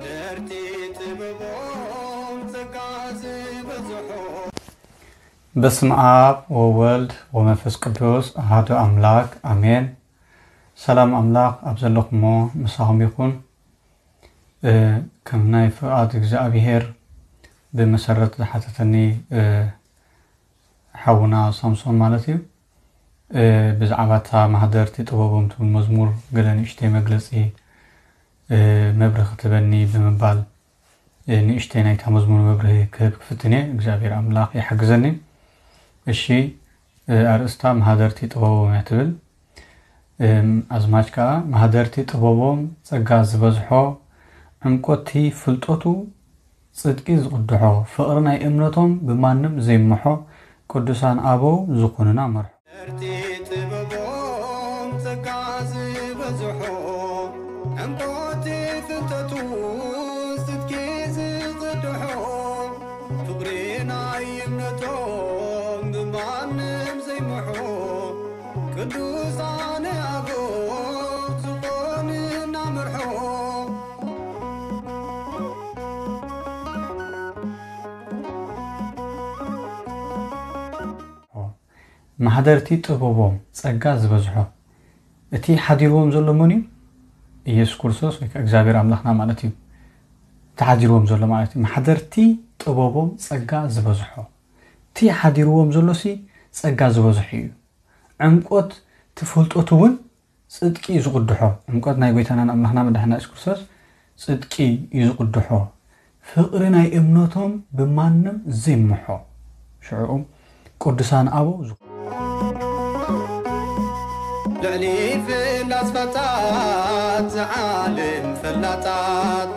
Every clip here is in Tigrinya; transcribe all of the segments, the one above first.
ደርቲ ጥበቦም ጸጋ ዝበዝሖ። በስመ አብ ወወልድ ወመንፈስ ቅዱስ አሐዱ አምላክ አሜን። ሰላም አምላክ ኣብ ዘለኹሞ ምሳኹም ይኹን። እ፣ ከም ናይ ፍቓድ እግዚኣብሔር ብመሰረት ዝሓተተኒ፣ እ፣ ሓውና ሳምሶን ማለት እዩ። እ፣ ብዛዕባ እታ ማህደርቲ ጥበቦም ትብል መዝሙር ገለ ንእሽተይ መግለጺ፣ እ፣ መብርሂ ክትበኒ ብምባል፣ እ፣ ንእሽተይ ናይታ መዝሙር መብርሂ ክህብ ክፍትን እየ። እግዚኣብሔር ኣምላኽ ይሓግዘኒ። እሺ፣ እ፣ ኣርእስታ ማህደርቲ ጥበቦም እያ ትብል። እም፣ ኣዝማች ከኣ ማህደርቲ ጥበቦም ጸጋ ዝበዝሖ፣ ዕምቆቲ ፍልጠቱ ጽድቂ ዝቕድሖ፣ ፍቕሪ ናይ እምነቶም ብማንም ዘይምሖ፣ ቅዱሳን ኣበው ዝኾኑና መርሖ። ደርቲ ጥበቦም ጸጋ ዝበዝሖ፣ ዕምቆቲ ፍልጠቱ ጽድቂ ዝቕድሖ፣ ፍቕሪ ናይ እምነቶም ብማንም ዘይምሖ፣ ቅዱሳን ኣበው ዝኾኑና መርሖ። ማህደርቲ ጥበቦም ጸጋ ዝበዝሖ። እቲ ሓዲርዎም ዘሎ መን እዩ? ኢየሱስ ክርስቶስ ወይ ከኣ እግዚኣብሔር ኣምላኽና ማለት እዩ። እቲ ሓዲርዎም ዘሎ ማለት እዩ። ማሕደርቲ ጥበቦም ጸጋ ዝበዝሖ። እቲ ሓዲርዎም ዘሎሲ ጸጋ ዝበዝሖ እዩ። ዕምቆት ትፍልጠቱ እውን ጽድቂ እዩ ዝቕድሖ። ዕምቆት ናይ ጎይታናን ኣምላኽና መድሓና የሱስ ክርስቶስ ጽድቂ እዩ ዝቕድሖ። ፍቕሪ ናይ እምነቶም ብማንም ዘይምሖ። ሽዑኡ ቅዱሳን ኣበው ዝኾኑ። ልዕሊ ፍላስፋታት ዝዓለም ፈላጣት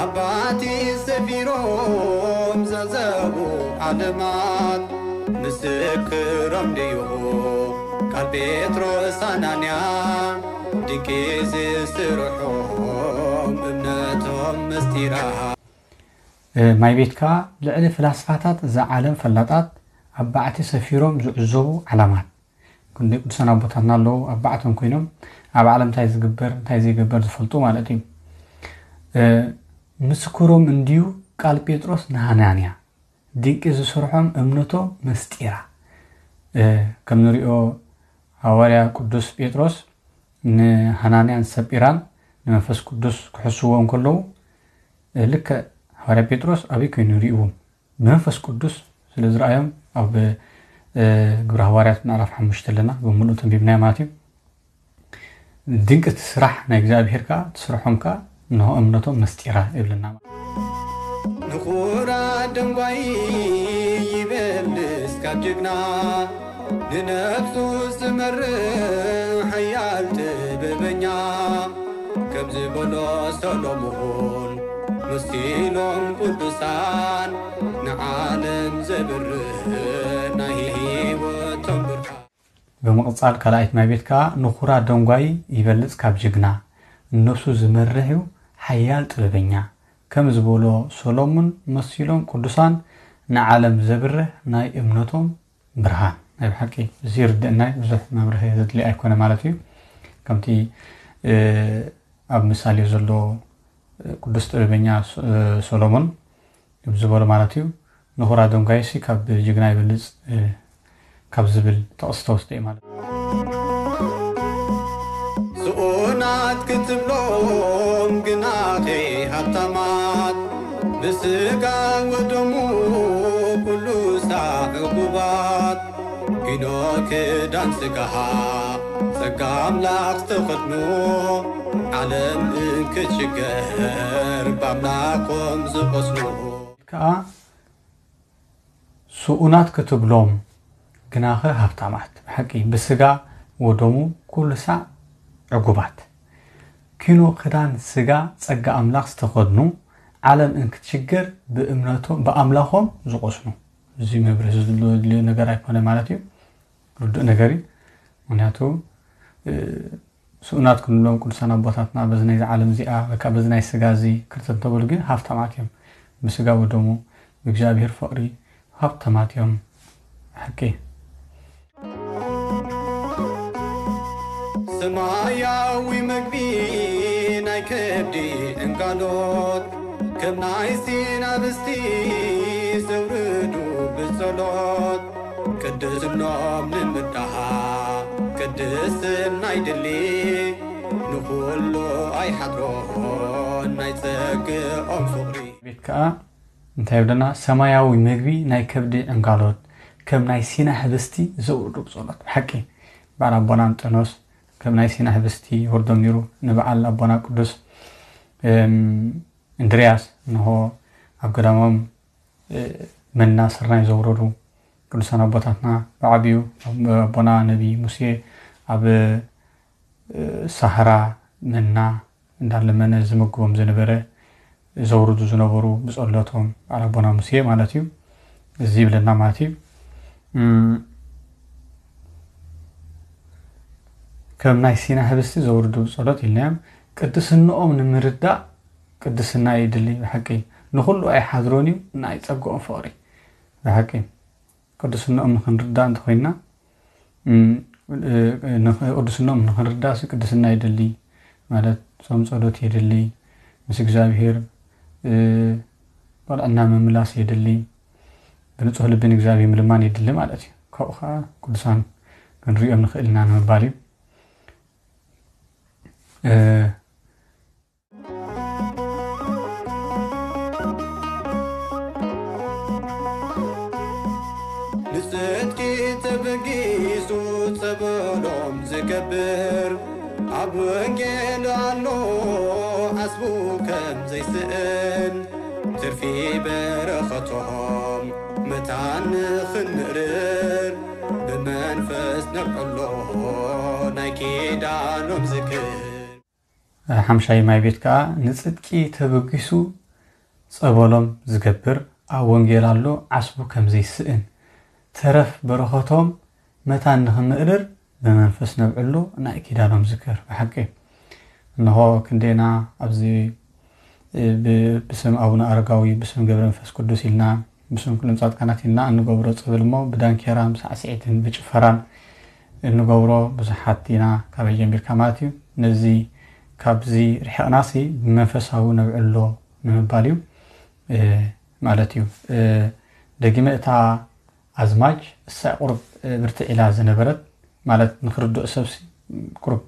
ኣባቲ ሰፊሮም ዘዘቡ ዓለማት ምስክሮም ድዩ ቃል ጴጥሮስ ኣናንያ ድቂ ዝስርሖም እምነቶም ምስጢራ። እ፣ ማይ ቤትካ ልዕሊ ፍላስፋታት እዛ ዓለም ፈላጣት ኣብ ባዕቲ ሰፊሮም ዝዕዘቡ ዓላማት። ክንደይ ቅዱሳን ኣቦታትና ኣለዉ ኣብ ባዕቶም ኮይኖም ኣብ ዓለም እንታይ ዝግበር እንታይ ዘይገበር ዝፈልጡ ማለት እዩ። እ፣ ምስክሮም እንድዩ ቃል ጴጥሮስ ንሃናንያ ድንቂ ዝሰርሖም እምነቶም መስጢራ። እ፣ ከም ንሪኦ ሃዋርያ ቅዱስ ጴጥሮስ ንሃናንያን ሰጲራን ንመንፈስ ቅዱስ ክሕስዎ እንከለዉ፣ እ፣ ልክዕ ሃዋርያ ጴጥሮስ ኣበይ ኮይኑ ይርእዎም? ብመንፈስ ቅዱስ ስለ ዝረኣዮም ኣብ፣ እ፣ ግብረ ሃዋርያት ምዕራፍ ሓሙሽተ ኣለና፣ ብምሉእ ተንቢብናዮ ማለት እዩ። ድንቂ እቲ ስራሕ ናይ እግዚኣብሄር ከኣ፣ እቲ ስርሖም ከኣ፣ እንሆ እምነቶም መስጢራ ይብለና። ንኹራ ደንጓይ ይበልስ ካብ ጅግና፣ ንነፍሱ ዝመርሕ ሓያል ጥበበኛ፣ ከም ዝበሎ ሰሎሞን መሲሎም ቅዱሳን፣ ንዓለም ዘብርህ ናይ ህይወቶም ብርሃን። ብምቕጻል ካልኣይት ማይ ቤት ከኣ ንኹራ ደንጓይ ይበልጽ ካብ ጅግና፣ ንነፍሱ ዝመርሕ እዩ ሓያል ጥበበኛ፣ ከም ዝበሎ ሰሎሞን መሲሎም ቅዱሳን፣ ንዓለም ዘብርህ ናይ እምነቶም ብርሃን። ናይ ብሓቂ እዚ ይርድእና እዩ፣ ብዙሕ መብርሂ ዘድልዮ ኣይኮነ ማለት እዩ። ከምቲ፣ እ፣ ኣብ ምሳሌ ዘሎ፣ እ፣ ቅዱስ ጥበበኛ ሶ-፣ እ፣ ሶሎሞን ዝበሎ ማለት እዩ። ንኹራ ደንጓይሲ ካብ ጅግና ይበልጽ፣ እ፣ ካብ ዝብል ጥቕሲ ተወስደ እዩ ማለት እዩ። ስኡናት ክትብሎም ግናኸ ሃብታማት፣ ብስጋ ወደሙ ኩሉ ሳዕ ዕጉባት፣ ኪኖ ክዳን ስጋኻ ጸጋ ኣምላኽ ዝተኸድኑ፣ ዓለም እንክትሽገር ብኣምላኾም ዝቐስኑ። ከኣ ስኡናት ክትብሎም ግናኸ ሃብታማት፣ ብሓቂ ብስጋ ወደሙ ኩሉ ሳዕ ዕጉባት። ኪኖ ክዳን ስጋ ጸጋ ኣምላኽ ዝተኸድኑ፣ ዓለም እንክትሽገር ብእምነቶም፣ ብኣምላኾም ዝቐስኑ። እዚ መብርሂ ዘድልዮ ነገር ኣይኮነ ማለት እዩ። ርዱእ ነገር እዩ። ምኽንያቱ፣ እ፣ ስኡናት ክንብሎም ቅዱሳን ኣቦታትና በዚ ናይዚ ዓለም እዚኣ ወይ ከዓ በዚ ናይ ስጋ እዚ ክርተት እንተበሉ ግን ሃብታማት እዮም። ብስጋ ወደሙ ብእግዚኣብሔር ፍቕሪ ሃብታማት እዮም። ሓቂ። ሰማያዊ መግቢ ናይ ከብዲ ዕንጋሎት፣ ከም ናይ ሲና ብስቲ ዘውርዱ ብጸሎት ቅድስኖም ንምዳሃ ቅድስና ይድሊ ንኹሉ ኣይሓድሮን ናይ ጸግኦም ፍቕሪ። ቤት ከኣ እንታይ ይብለና? ሰማያዊ ምግቢ ናይ ከብዲ ዕንጋሎት ከም ናይ ሲና ህብስቲ ዘውርዱ ብጸሎት። ብሓቂ በዓል ኣቦና እንጠኖስ ከም ናይ ሲና ህብስቲ ይወርዶም ነይሩ። ንበዓል ኣቦና ቅዱስ እንድርያስ እንሆ ኣብ ገዳሞም መና ስርናይ ዘውረዱ ቅዱሳን ኣቦታትና ብዓቢኡ ኣቦና ነቢ ሙሴ ኣብ ሳህራ መና እንዳለመነ ዝምግቦም ዝነበረ ዘውርዱ ዝነበሩ ብጸሎቶም በዓል ኣቦና ሙሴ ማለት እዩ። እዚ ይብለና ማለት እዩ። ከም ናይ ሲና ህብስቲ ዘውርዱ ብጸሎት ኢልናዮም። ቅድስንኦም ንምርዳእ ቅድስና ይድሊ ብሓቂ። ንኹሉ ኣይሓድሮን እዩ፣ ናይ ጸግኦም ፍቕሪ ብሓቂ። ቅድስንኦም ንኽንርዳእ እንተኾይንና፣ ቅድስንኦም ንኽንርዳእ ሲ ቅድስና ይድሊ ማለት ጾም ጸሎት የድሊ፣ ምስ እግዚኣብሔር ቁርዕና ምምላስ የድሊ፣ ብንጹህ ልቢ ንእግዚኣብሔር ምልማን የድሊ ማለት እዩ። ካብኡ ከዓ ቅዱሳን ክንሪኦም ንኽእል ኢና ንምባል እዩ። ንጽድቂ ተበጊሱ ጸበሎም ዝገብር ኣብ ወንጌል ኣሎ ዓስቡ ከም ዘይስእን ትርፊ በረኸቶም መታን ንኽንምእርር ብመንፈስ ነብዕሎ ናይ ኪዳኖም ዝክር። ሓምሻይ ማይ ቤት ከዓ ንጽድቂ ተበጊሱ ጸበሎም ዝገብር ኣብ ወንጌል ኣሎ ዓስቡ ከም ዘይስእን ተረፍ በረኸቶም መታን ንኽምእርር ብመንፈስ ነብዕሎ ናይ ኪዳኖም ዝክር። ብሓቂ እንሆ ክንደና ኣብዚ ብስም ኣቡነ ኣረጋዊ ብስም ገብረ መንፈስ ቅዱስ ኢልና ብስም ኩሎም ጻድቃናት ኢልና እንገብሮ ጸበል እሞ ብዳንኬራን ብሳዕስዒትን ብጭፈራን እንገብሮ ብዙሓት ኢና ካበይ ጀሚርካ ማለት እዩ። ነዚ ካብዚ ርሕቕናሲ ብመንፈሳዊ ነብዕሎ ንምባል እዩ ማለት እዩ። ደጊመ እታ ኣዝማች እሳ ቁሩብ ብርትዕ ኢላ ዝነበረት ማለት ንኽርድኦ ሰብሲ ቁሩብ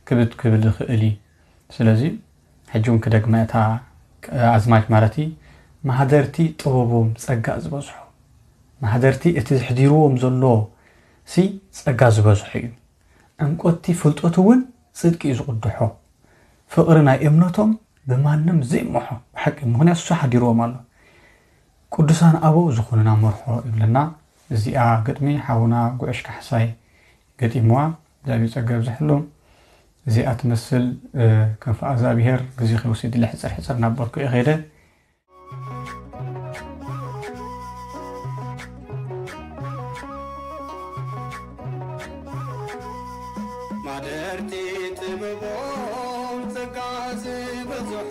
ክብድ ክብል ይኽእል እዩ። ስለዚ ሕጂ እውን ክደግመ እታ ኣዝማች ማለት እዩ ማህደርቲ ጥበቦም ጸጋ ዝበዝሖ ማህደርቲ እቲ ዝሕዲርዎም ዘሎ ሲ ጸጋ ዝበዝሖ እዩ። ዕምቆቲ ፍልጠቱ እውን ጽድቂ እዩ ዝቕድሖ። ፍቕሪ ናይ እምነቶም ብማንም ዘይመሖ ብሓቂ ምኽንያት እሱ ሓዲርዎም ኣሎ። ቅዱሳን ኣበው ዝኾኑና መርሖ ይብለና። እዚኣ ግጥሚ ሓውና ጉዕሽ ካሕሳይ ገጢምዋ እግዚኣብሔር ጸጋ ይብዝሐሉ። እዚኣ ትመስል ከም ፍቓድ እግዚኣብሔር ግዜ ከይወስድ ኢለ ሕጽር ሕጽር እናበልኩ እየ ከይደ። ማደርቲ ጥበቦም ጸጋ ዝበዝሖ